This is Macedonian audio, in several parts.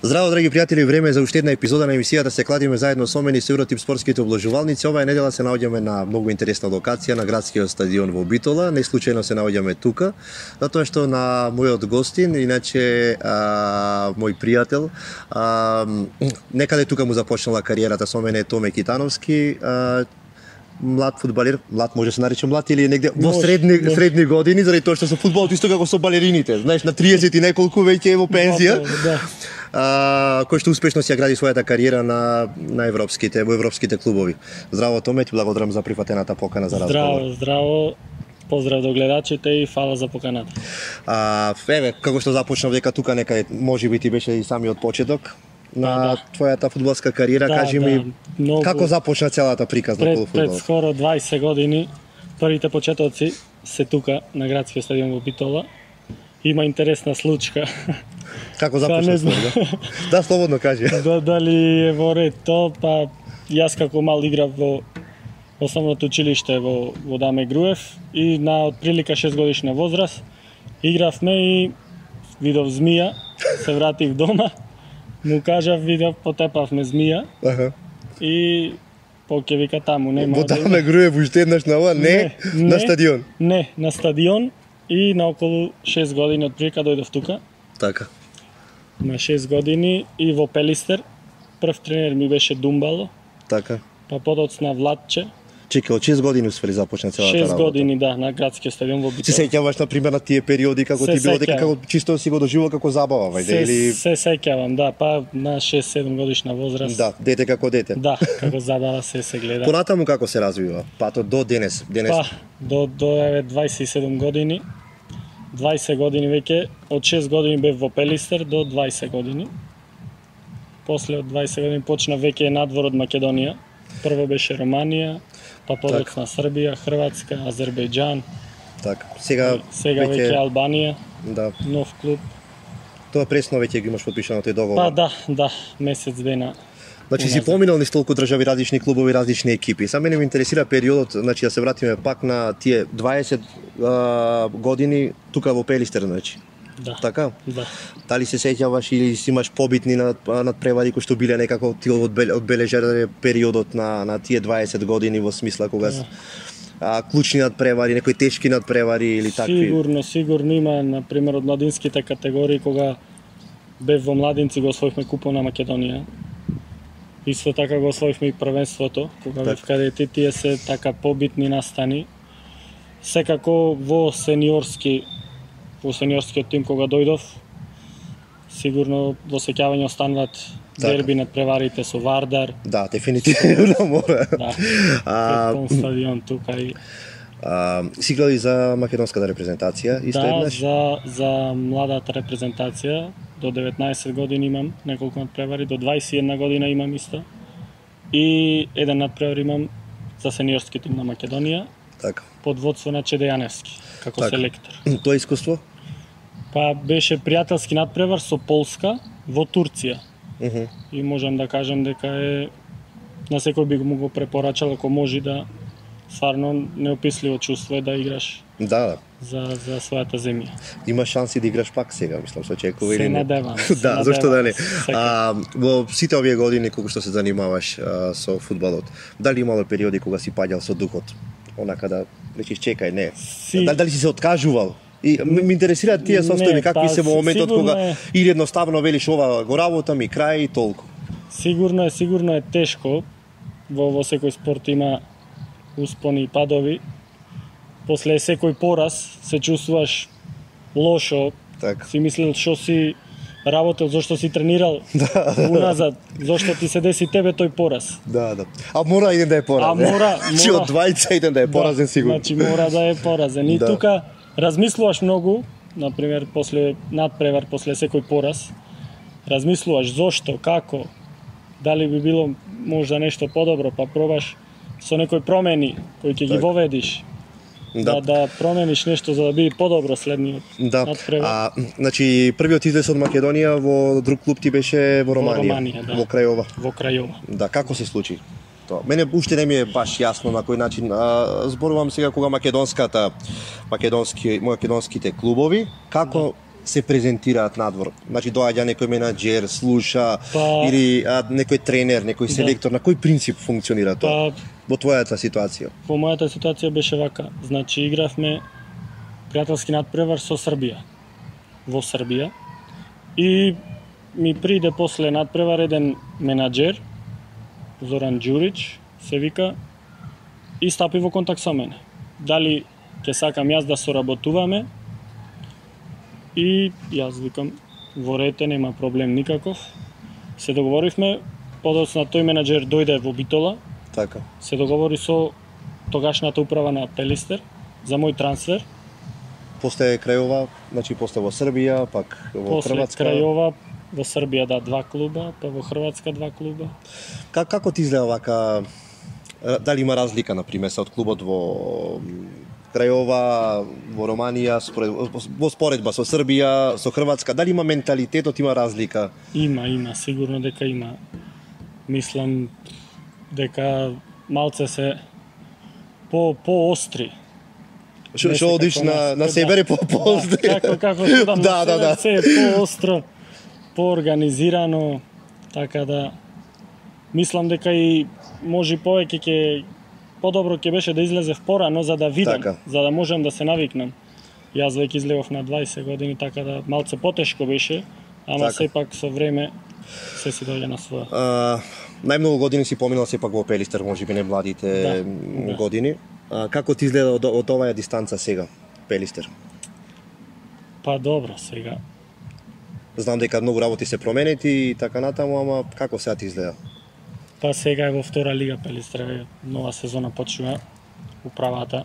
Здраво, драги пријатели, време е за уште една епизода на емисијата Се кладиме заедно со мене и Евротип спортските облажувалници. Оваа недела се наоѓаме на многу интересна локација на градскиот стадион во Битола. Не случајно се наоѓаме тука, затоа што на мојот гостин, иначе мој пријател, некаде тука му започнала кариерата со мене Томе Китановски, млад фудбалер, млад може се нарече млад или негде во средни години, заради тоа што со фудбалот исто како со балерините, знаеш, на 30 и неколку веќе е во пензија. Кој што успешно си ја гради својата кариера во европските клубови. Здраво, Томе, ти благодарам за прифатената покана за разговор. Здраво. Поздрав до гледачите и фала за поканата. Еве, како што започнав дека тука некаде можеби ти беше и самиот почеток на твојата фудбалска кариера, кажи ми како започна целата приказна околу фудбалот? Пред скоро 20 години првите почетоци се тука на градскиот стадион во Битола. Има интересна случка. Како започна тоа? Да, слободно кажи. Дали е во ред тоа, па јас како мал играв во основното училиште во Даме Груев и на отприлика 6 годишна возраст игравме и видов змија, се вратив дома, му кажав, видов, потепавме змија. И ќе вика таму, нема. Во Даме Груев уште еднаш на ова, не на стадион. Не, на стадион и на околу 6 години отприлика дојдов тука. Така. На 6 години и во Пелистер. Прв тренер ми беше Думбало. Така. Па подоцна Владче. Чека, од 6 години успели започна целата работа. 6 години, да, на градскиот стадион во Битола. Се сеќаваш на пример на тие периоди како ти било дека како чисто си го доживувал како забава, вајде или се сеќавам, да, па на 6-7 годишна возраст. Да, дете како дете. Да, како забава се гледа. Понатаму како се развива? Патот до денес. Па до 27 години. 20 години веќе, од 6 години бев во Пелистер до 20 години. После од 20 години почна веќе надвор од Македонија. Прво беше Романија, па подоцна Србија, Хрватска, Азербејџан. Така. Сега веќе Албанија. Да. Нов клуб. Тоа пресно веќе ги имаш подпишано тој договор. Па да, месец дена. Значи си поминал низ толку држави, различни клубови, различни екипи. Са мене ме интересира периодот, значи да се вратиме пак на тие 20 години тука во Пелистер, значи. Да. Така? Да. Дали се сеќаваш или си имаш побитни надпревари кои што биле некако ти одбележале периодот на тие 20 години во смисла кога клучни надпревари, некои тешки надпревари или такви? Сигурно има, например, од младинските категории кога бев во младинци го освоивме купон на Македонија. Исто така го освоивме и првенството, кога бев кадети, тие се така побитни настани. Секако во сениорскиот тим кога дојдов, сигурно во сеќавање остануваат дерби над преварите со Вардар. Да, дефинитивно мора. Да, пред стадион тука и... Си гледа за македонската репрезентација исто еднаш? Да, за младата репрезентација. До 19 години имам неколку надпревари, до 21 година имам исто. И еден надпревар имам за сениорски тим на Македонија. Така. Под водство на Чеде Јаневски, како селектор. Тоа искуство? Па беше пријателски надпревар со Полска во Турција. И можам да кажам дека е на секој би му го препорачал ако може да стварно неописливо чувство е да играш. Да. За својата земја. Има шанси да играш пак сега, мислам, со очекува или не? Се надевам. Да, зашто да не. Во сите овие години кога што се занимаваш со фудбалот, дали имало периоди кога си паѓал со духот? Онака да речиш чекај, не. Дали си се откажувал? И ме интересираат тие состојби, какви се во моментот кога или едноставно велиш ова го работам и крај и толку. Сигурно е тешко. Во секој спорт има успони и падови. После секој пораз се чувствуваш лошо. Си мислел што си работел, зошто си тренирал уназад, зошто ти се деси тебе тој пораз. Да. А мора еден да е поразен. Чи од двајца еден да е поразен сигурно. Значи мора да е поразен. И тука размислуваш многу, например, после надпревар, после секој пораз, размислуваш зошто, како, дали би било можда нешто подобро, па пробаш со некои промени кои ќе ги воведиш. Да промениш нешто за да биде подобро следниот надпревар. Значи првиот излез од Македонија во друг клуб ти беше во Романија, во Крајова. Во Крајова. Да, како се случи тоа? Мене уште не ми е баш јасно на кој начин. Зборувам сега кога македонските клубови, како се презентираат надвор? Значи доаѓа некој менаџер, слуша или некој тренер, некој селектор, на кој принцип функционира тоа? Во твојата ситуација? Во мојата ситуација беше вака. Значи игравме пријателски надпревар со Србија. Во Србија. И ми приде после надпревар еден менаџер, Зоран Ѓурич, се вика, и стапи во контакт со мене. Дали ќе сакам јас да соработуваме? И јас викам, во рете, нема проблем никаков. Се договоривме, подоцна тој менаџер дојде во Битола. Така. Се договори со тогашната управа на Пелистер за мој трансфер. После крајова, значи после во Србија, пак во Хрватска. После крајова во Србија 2 клуба, па во Хрватска 2 клуба. Како ти изгледа вака? Дали има разлика, например, од клубот во Крајова, во Романија, во споредба со Србија, со Хрватска, дали има менталитетот, има разлика? Има, сигурно дека има. Мислам дека малце се по-остри. Што одиш на север и по-остри? Како судам на север, се е по-остро, по-организирано, така да мислам дека и може повеќе ќе подобро ќе беше да излезев порано за да видам, за да можам да се навикнам. Јас веќе излегов на 20 години, така да малце потешко беше, ама сепак со време се си дојде на своја. Најмногу години си поминал сепак во Пелистер, можеби не младите години. Како ти изгледа од оваа дистанца сега, Пелистер? Па добро, сега. Знам дека многу работи се променети и така натаму, ама како сега ти изгледа? Па сега е во втора лига Пелистер, нова сезона почнува, управата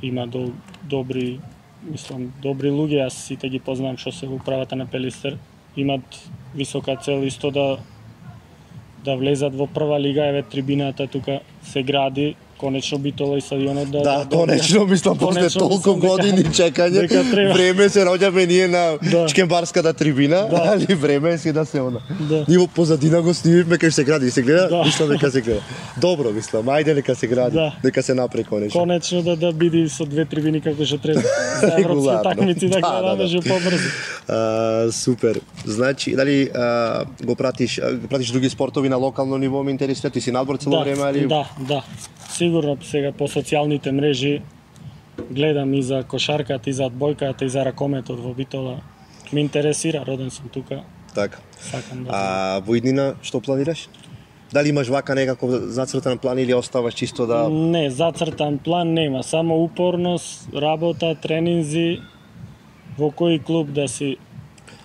има добри, мислам, добри луѓе, јас сите ги познавам што се во управата на Пелистер, имат висока цел исто да влезат во прва лига, еве трибината тука се гради, конечно Битола и стадионот да конечно, мислам, после толку години чекање, време се роѓаме ние на Чкембарската трибина, али време е да се она. Ние во позадина го снимивме кај се гради, се гледа, мислам дека се гледа. Добро, мислам, ајде нека се гради, нека се направи конечно. Конечно да биде со 2 трибини како што треба. За европски такмици да гледаме што побрзо. Супер. Значи, дали го пратиш други спортови на локално ниво, ме интересира, ти си надбор цело време али? Да. Сигурно сега по социјалните мрежи гледам и за кошарката, и за одбојката, и за ракометот во Битола. Ме интересира, роден сум тука. Така. Сакам да. Во иднина што планираш? Дали имаш вака некаков зацртан план или оставаш чисто да... Не, зацртан план нема, само упорност, работа, тренинзи, во кој клуб да си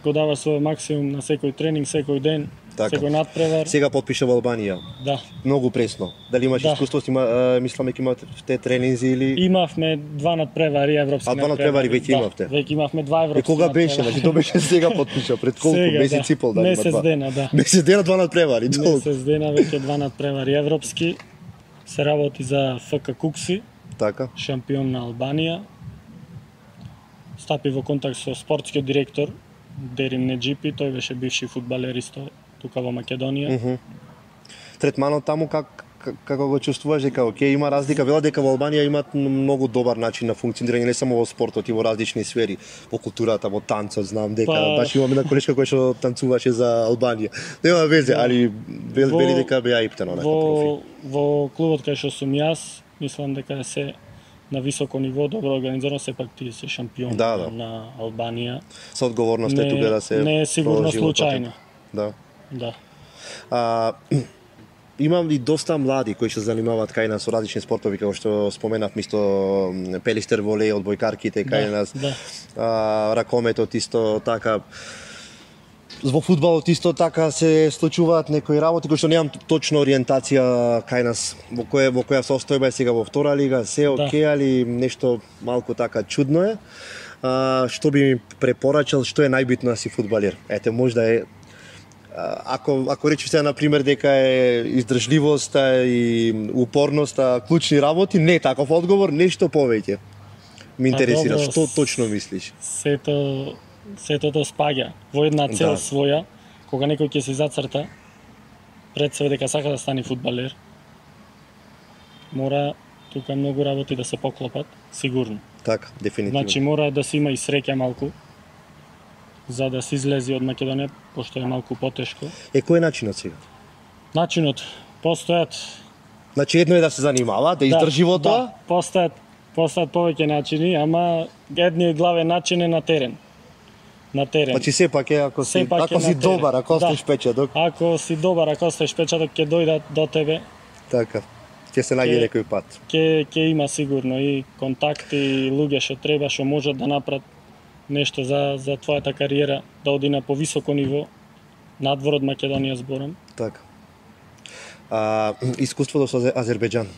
го дава свој максимум на секој тренинг, секој ден. Секој надпревар. Сега потпиша во Албанија. Да. Многу пресно. Дали имаш искуство, мислам дека имате те тренинзи или... Имавме 2 надпревари европски надпревари. 2 надпревари веќе имавте. Веќе имавме 2 европски. Кога беше? Значи тоа беше сега потпиша, пред колку месеци и пол дали има 2. Месец дена, да. Месец дена 2 надпревари. Месец дена веќе 2 надпревари европски. Се работи за ФК Кукси. Така. Шампион на Албанија. Стапи во контакт со спортскиот директор Дерим Неџипи, тој беше бивши фудбалер исто тука во Македонија. Третманот таму како го чувствуваш, дека окей, има разлика, вела дека во Албанија имаат многу добар начин на функционирање не само во спортот и во различни сфери, во културата, во танцот, знам дека баш имаме една колешка која што танцуваше за Албанија. Нема везе, али вели дека беа иптено на профи. Во клубот кај што сум јас, мислам дека се на високо ниво, добро организирано, сепак ти си шампион на Албанија. Со одговорноста е тука да се не е сигурно случајно. Да. Имам и доста млади кои се занимаваат кај нас со различни спортови, како што споменав, мисто Пелистер волеј, одбојкарките кај нас, ракометот исто така. Во фудбалот исто така се случуваат некои работи кои што немам точно ориентација кај нас во која состојба е сега во втора лига, се окей, али нешто малку така чудно е. Што би ми препорачал, што е најбитно да си фудбалер? Ете, можда е ако речеш сега на пример дека е издржливоста и упорноста клучни работи, не таков одговор, нешто повеќе. Ме интересира, што точно мислиш? Сето тоа спаѓа во една цел своја, кога некој ќе се зацрта пред себе дека сака да стане фудбалер. Мора тука многу работи да се поклопат, сигурно. Така, дефинитивно. Значи мора да се има и среќа малку, за да се излези од Македонија, пошто е малку потешко. Кој е начинот сега? Начинот постојат. Значи едно е да се занимава, да издржи во тоа. Да, постојат повеќе начини, ама едниот главен начин е на терен. На терен. Значи сепак е ако си добар, ако остеш печаток. Ако си добар, ако остеш печаток, ќе дојдат до тебе. Така. Ќе се најде некој пат. Ќе има сигурно и контакти, и луѓе што треба, што можат да направат нешто за твојата кариера, да оди на повисоко ниво, надвор од Македонија зборам. Така. Искуството со Азербејџан.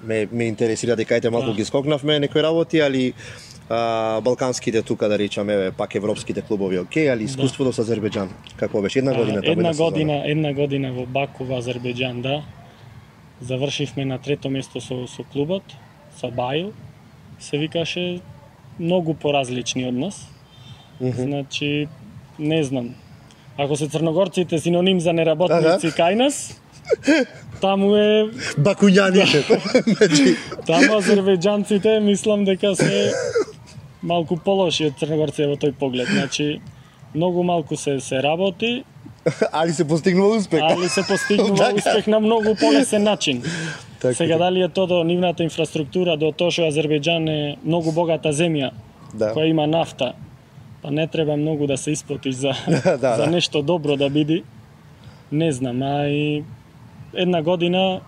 Ме интересира, дека малку ги скокнавме некои работи, али балканските тука да речеме, пак европските клубови али искуството со Азербејџан како беше една година таму? Една година во Баку во Азербејџан, да. Завршивме на трето место со клубот, со Бајл. Се викаше многу поразлични од нас. Значи, не знам. Ако се црногорците синоним за неработници кај нас, таму е бакуњаните. Таму азербејџанците мислам дека се малку полоши од црногорците во тој поглед. Значи, многу малку се работи, али се постигнува успех. Успех на многу полесен начин. Сега дали е тоа до нивната инфраструктура, до тоа што Азербејџан е многу богата земја, која има нафта, па не треба многу да се исплатиш за нешто добро да биде. Не знам, а и една година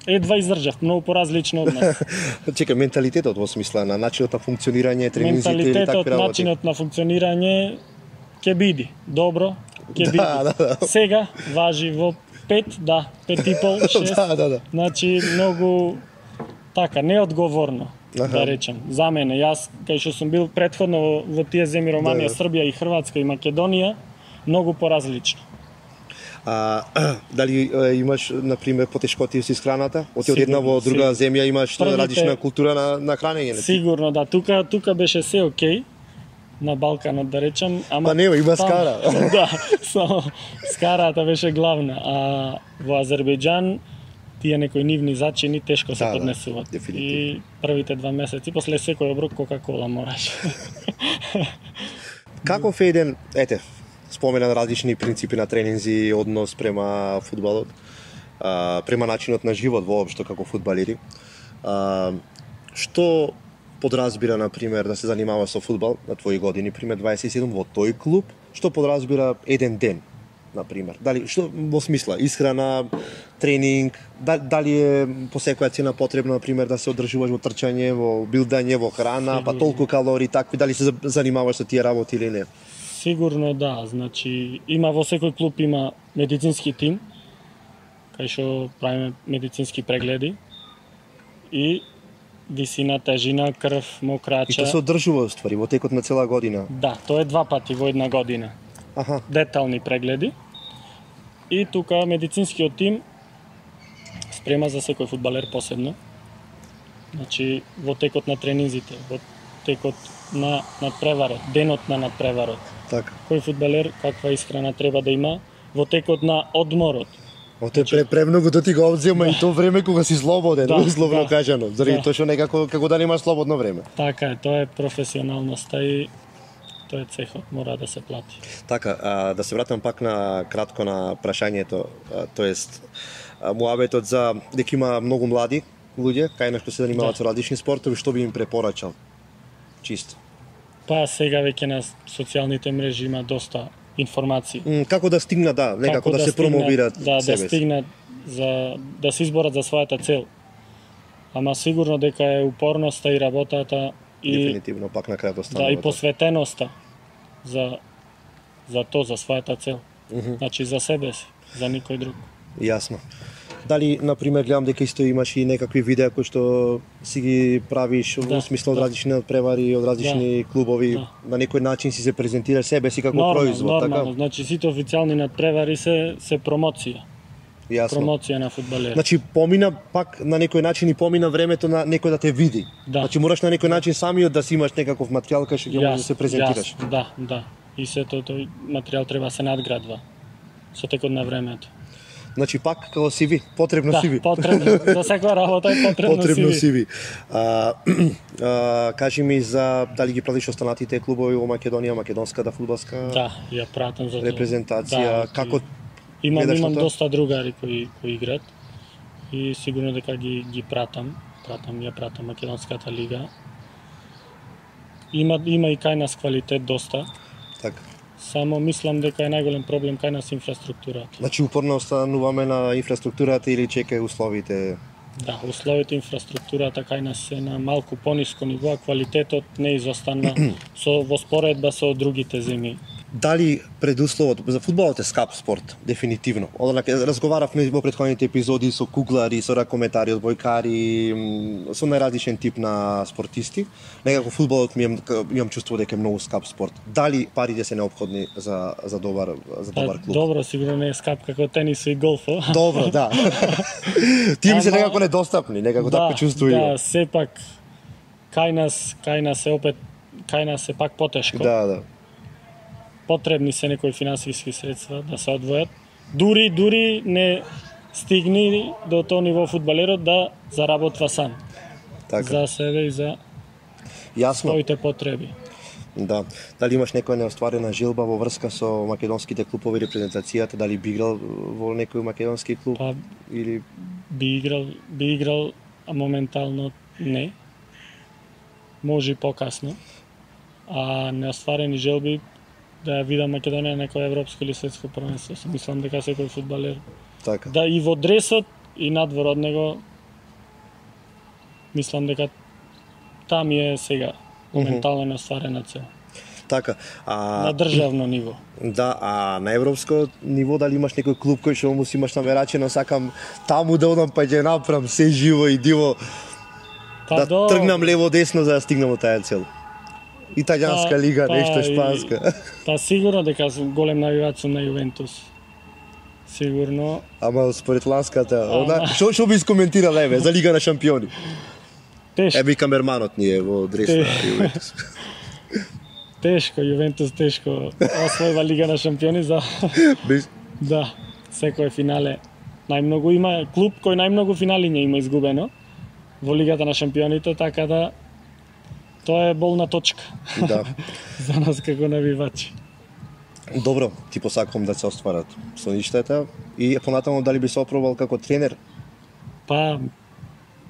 едва издржав, многу поразлично од нас. Чекај, менталитетот во смисла на начинот на функционирање, тренинзите или такви работи? Менталитетот, начинот на функционирање ќе биде добро, ќе биде. Сега важи во 5, 5,5, 6. Значи многу така неодговорно, да речем. За мене, јас кај што сум бил претходно во тие земји Романија, Србија и Хрватска и Македонија, многу поразлично. Дали имаш, например, потешкоти со исхраната? Од една во друга земја имаш различна култура на хранење? Сигурно, да. Тука беше се окей, на Балканот, да речем. Па нема, има скара. Да, скарата беше главна. А во Азербејџан, тие некои нивни зачини тешко се поднесуваат. И првите 2 месеци, после секој оброк Кока-кола мораш. Каков е еден, спомена различни принципи на тренинзи, однос према фудбалот, према начинот на живот воопшто како фудбалери. Што подразбира, например, да се занимава со фудбал на твои години, пример 27 во тој клуб, што подразбира еден ден, например? Дали што во смисла исхрана, тренинг, дали е по секоја цена потребно, например, да се одржуваш во трчање, во билдање, во храна, па толку калории, такви, дали се занимаваш со тие работи или не? Сигурно да, значи има во секој клуб има медицински тим, кај што правиме медицински прегледи и висина, тежина, крв, мокрача. И тоа се одржува ствари во текот на цела година? Да, тоа е 2 пати во една година. Детални прегледи. И тука медицинскиот тим спрема за секој фудбалер посебно. Значи во текот на тренинзите, во текот на надпреварот, денот на надпреварот. Така. Кој фудбалер каква исхрана треба да има во текот на одморот. Ото е премногу да ти го одзема и тоа време кога си слободен, условно кажано, заради тоа што некако како да немаш слободно време. Така е, тоа е професионалноста и тоа е цехот, мора да се плати. Така, да се вратам пак на кратко на прашањето, тоест муабетот за дека има многу млади луѓе кај на што се занимаваат со различни спортови, што би им препорачал? Чисто. Па сега веќе на социјалните мрежи има доста информации. Како да стигнат, некако да се промовираат себе. Да стигнат да се изборат за својата цел. Ама сигурно дека е упорноста и работата и дефинитивно пак на крајот останува. Да, и посветеноста за за својата цел. Значи за себе си, за никој друг. Јасно. Дали, например, гледам дека исто имаш и некакви видеа кои што си ги правиш во смисло од различни надпревари, од различни клубови, на некој начин си се презентираш себе си како производ, така? Нормално, значи сите официјални надпревари се промоција. Јасно. Промоција на фудбалери. Значи помина пак на некој начин и помина времето на некој да те види. Значи мораш на некој начин самиот да си имаш некаков материјал кај што ќе можеш да се презентираш. Да. И сето тој материјал треба да се надградва со текот на времето. Значи пак како CV, потребно Да, CV. потребно. За секоја работа е потребно CV. Кажи ми за дали ги пратиш останатите клубови во Македонија, македонската фудбалска Да, ја пратам за тоа. репрезентација. Да, Како имам доста другари кои играат и сигурно дека ги пратам. Ја пратам македонската лига. Има и кај нас квалитет доста. така? Само мислам дека е најголем проблем кај нас инфраструктурата. Значи упорно остануваме на инфраструктурата или чекај условите? Да, условите инфраструктурата кај нас се на малку пониско ниво, а квалитетот не изостанува во споредба со другите земји. Дали предусловот за фудбалот е скап спорт, дефинитивно. Разговаравме во претходните епизоди со куглари, со ракометари, одбојкари, со најразличен тип на спортисти. Некако фудбалот имам чувство дека е многу скап спорт. Дали парите се неопходни за добар клуб? Добро, сигурно не е скап како тенис и голфо. Добро, да. Тие ми се некако недостапни, некако така чувствувам. Да, сепак кај нас е пак потешко. Да. Потребни се некои финансиски средства да се одвојат. Дури не стигни до тоа ниво фудбалерот да заработва сам. Така. За себе и за своите потреби. Да. Дали имаш некоја неостварена желба во врска со македонските клубови репрезентацијата, дали би играл во некој македонски клуб или би играл, а моментално не. Може и покасно. А неостварени желби да ја видам Македонија на некој европско или светско првенство. Мислам дека секој фудбалер така. Да и во дресот и надвор од него мислам дека там е сега моментално неостварена цел. Така. На државно ниво. Да, а на европско ниво дали имаш некој клуб кој што му си имаш намерачено, сакам таму да одам па ќе направам се живо и диво тргнам лево десно за да стигнам до таа цел. Италијанска лига, нешто шпанска. Сигурно дека сум голем навивач на Јувентус. Сигурно. Ама според ланската, што би искоментирал за Лига на шампиони? Тешко. Камерманот ни е во дрес на Јувентус. Тешко, Јувентус тешко освојува Лига на шампиони за да, секој финале. Најмногу има клуб кој најмногу финали не има изгубено во Лигата на шампионите, така да тоа е болна точка. Да. За нас како навивачи. Добро, ти посакувам да се остварат соништата и понатаму дали би се опробал како тренер? Па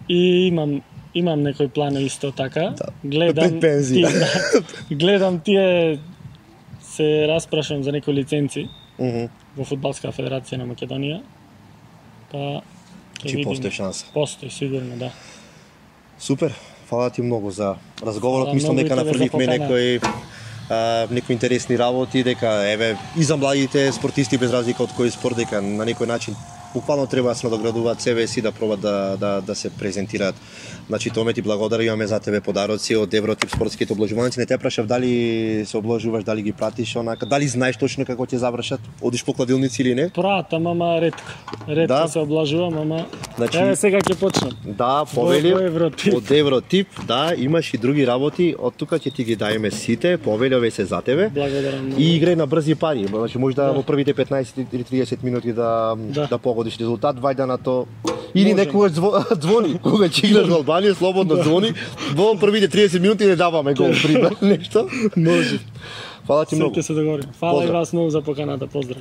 и имам некој план исто така. Да. Гледам гледам тие се распрашам за некои лиценци во Фудбалска федерација на Македонија. Па ќе постои шанса. Постои сигурно, да. Супер. Фала ти многу за разговорот. Мислам дека нафрливме некои интересни работи, дека и за младите спортисти без разлика од кој спорт, дека на некој начин буквално треба да се надоградуваат себе си, да пробат да се презентираат. Значи, Томе, ти благодарам, имаме за тебе подароци од Евротип спортските обложуваници. Не те прашав дали се обложуваш, дали ги пратиш онака, дали знаеш точно како ќе завршат? Одиш по кладилници или не? Пратам, ама ретко. Ретко се обложувам, ама значи, сега ќе почнам. Да, повели од Евротип, да, имаш и други работи, од тука ќе ти ги даеме сите, повели се за тебе. Благодарам. И играј на брзи пари, значи може да во првите 15 или 30 минути да погодиш резултат, вајда на то. Или некогаш звони, кога ќе играш во Албанија, слободно звони, во првите 30 минути не даваме гол, пример, нешто. Може. Фала ти многу. Се договорим. Фала и вас многу за поканата, поздрав.